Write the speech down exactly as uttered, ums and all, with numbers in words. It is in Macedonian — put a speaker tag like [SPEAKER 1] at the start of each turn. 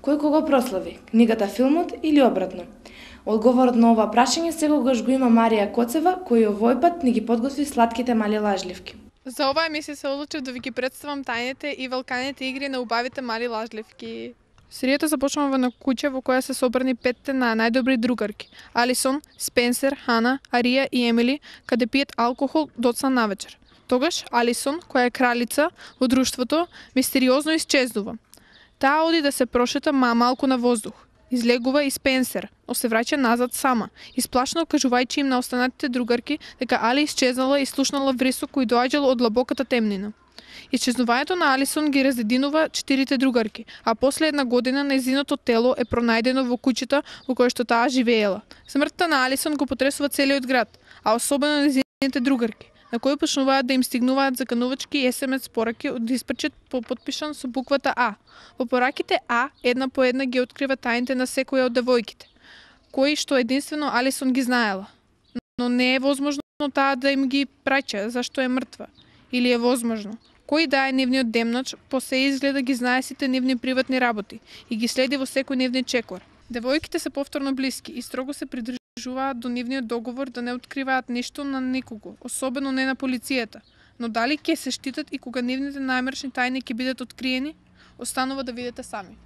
[SPEAKER 1] Кој кого прослави? Книгата, филмот или обратно? Одговорот на ова прашање секогаш го има Марија Коцева, кој овој пат ни ги подготви сладките мали лажливки.
[SPEAKER 2] За оваа емисија се одлучив да ви ги представам тајните и великаните игри на убавите мали лажливки. Серијата започнува на куќа во која се собрани петте на најдобри другарки: Алисон, Спенсер, Хана, Арија и Емили, каде пиет алкохол доцна навечер. Тогаш Алисон, која е кралица во друштвото, мистериозно исчезнува. Таа оди да се прошета ма малку на воздух. Излегува и Спенсер, но се враќа назад сама, исплашно кажувајќи им на останатите другарки дека Али исчезнала и слушнала вресок кој доаѓал од длабоката темнина. Исчезнувањето на Алисон ги разединува четирите другарки, а после една година нејзиното тело е пронајдено во куќата во која што таа живеела. Смртта на Алисон го потресува целиот град, а особено нејзините другарки, на кои почнуваат да им стигнуваат заканувачки ес ем ес пораки од диспачет подпишан со буквата А. Во пораките А, една по една ги открива тајните на секоја од девојките, кои што единствено Алисон ги знаела. Но не е возможно таа да им ги праќа зашто е мртва. Или е возможно? Кој да е нивниот демнач, по се изгледа ги знае сите нивни приватни работи и ги следи во секој нивни чекор. Девојките се повторно блиски и строго се придржуваат до нивниот договор да не откриваат ништо на никого, особено не на полицијата. Но дали ќе се штитат и кога нивните најмрачни тајни ќе бидат откриени, останува да видите сами.